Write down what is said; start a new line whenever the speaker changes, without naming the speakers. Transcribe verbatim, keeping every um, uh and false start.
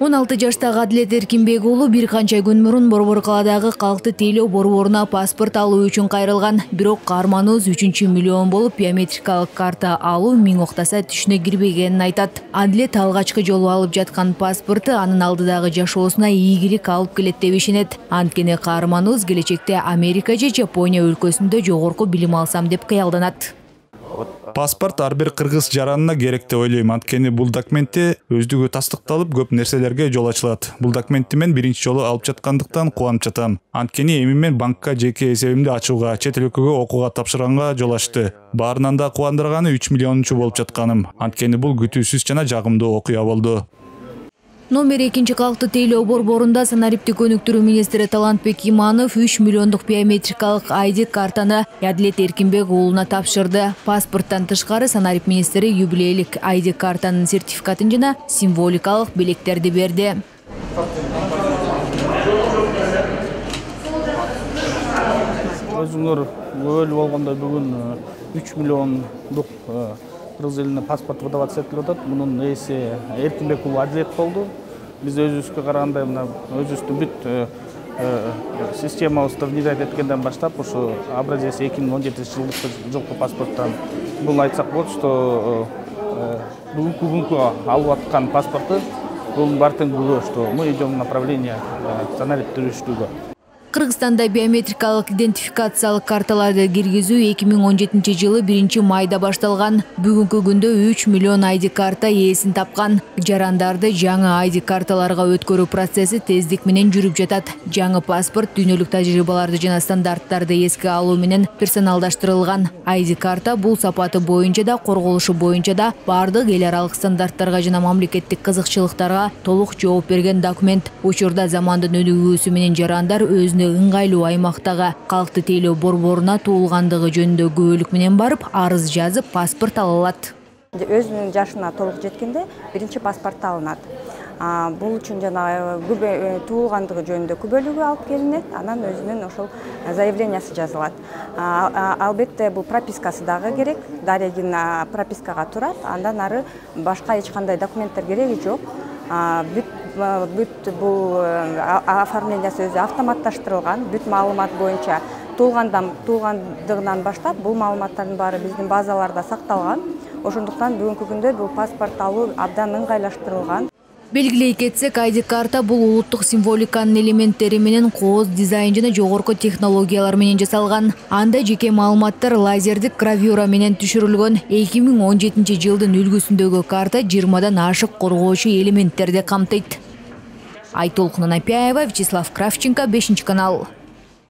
он алты жаштагы Адилет Эркинбек уулу бир канча күн мурун Борбор калаадагы калкты тейлөө борборуна паспорт алуу үчүн кайрылган. Бирок каарманыбыз үчүнчү миллион болуп биометрикалык карта алуу миң октаса түшүнө кирбегенин айтат. Адилет алгачкы жолу алып жаткан паспорту анын алдыдагы жашоосуна ийгилик алып келет деп ишенет. Анткени каарманыбыз келечекте Америка же Жапония өлкөсүндө жогорку билим алсам деп кыялданат.
Паспорт ар бир кыргыз жаранына керек деп ойлойм. Анткени бул документте өздүгү тастыкталып көп нерселерге жол ачылат. Бул документти мен биринчи жолу алып жаткандыктан кубанып жатам. Анткени эми мен банкка жеке эсебимди ачууга, чет эл өлкөгө окууга тапшырганга жол ачты. Баарынан да кубандырганы үч миллионунчу болуп жатканым. Анткени бул күтүүсүз жана жагымдуу окуя болду.
Номер экинчи калкты тейлөө борборунда санариптик өнүктүрүү министри Талантбек Иманов үч миллиондук биометрикалык ай ди картаны Адилет Эркинбек уулуна тапшырды. Паспорттон тышкары санарип министри юбилейлик ай ди картанын сертификатын жана символикалык белектерди берди.
Өзүңөр өлүп болгондой бүгүн үч миллиондук кыргыз элине паспорт выдаваться этилип атат. Мунун ээси Эркинбек уулу Адилет болду. Биз өзүбүзгө караганда мына өзүбүздүн бүт системабызды внедрять эткенден баштап ушу образец эки миң он жетинчи жылкы паспорттан бул айтсак болот, что бүгүнкү күнгө алып аткан паспорту бул бар тең, что мы идем в направление санариптиштүүгө.
Кыргызстанда биометрикалык идентификациялык карталарды киргизүү эки миң он жетинчи жылы биринчи майда башталган. Бүгүнкү күндө үч миллион ай ди карта ээсин тапкан. Жарандарды жаңы ай ди карталарга өткөрүү процесси тездик менен жүрүп жатат. Жаңы паспорт дүйнөлүк тажрыйбаларды жана стандарттарды эске алуу менен персоналдаштырылган. ай ди карта бул сапаты боюнча да, корголушу боюнча да бардык эл аралык стандарттарга жана мамлекеттик кызыкчылыктарга толук жооп берген документ. Учурда замандын өнүгүүсү менен жарандар өзүнө ыңгайлуу аймактагы калкты тейлөө борборуна туулгандыгы жөнүндө күбөлүк менен барып арыз жазып паспорт ала алат.
Өзүнүн жашына толук жеткенде биринчи паспорт алынат. Бул үчүн жана туулгандыгы жөнүндө күбөлүгү алып келинет, анан өзүнүн ошол заявлениясы жазылат. Албетте бул пропискасы дагы керек, дарегин пропискага турат, андан ары башка эч кандай документтер кереги жок. Бүт бул оформлениясы өзү автоматташтырылган, бүт маалымат боюнча туулгандыгынан баштап бул маалыматтардын баары биздин базаларда сакталган. Ошондуктан бүгүнкү күндө бул паспорт алуу абдан ыңгайлаштырылган.
Белгилей кетсек, ай ди карта бул улуттук символиканын элементтери менен кооз дизайн жана жогорку технологиялар менен жасалган. Анда жеке маалыматтар лазердик гравюра менен түшүрүлгөн. эки миң он жетинчи жылдын үлгүсүндөгү карта жыйырмадан ашык коргоочу элементтерди камтыйт. Айтолкун Анапяева, Вячеслав Кравченко, бешинчи канал.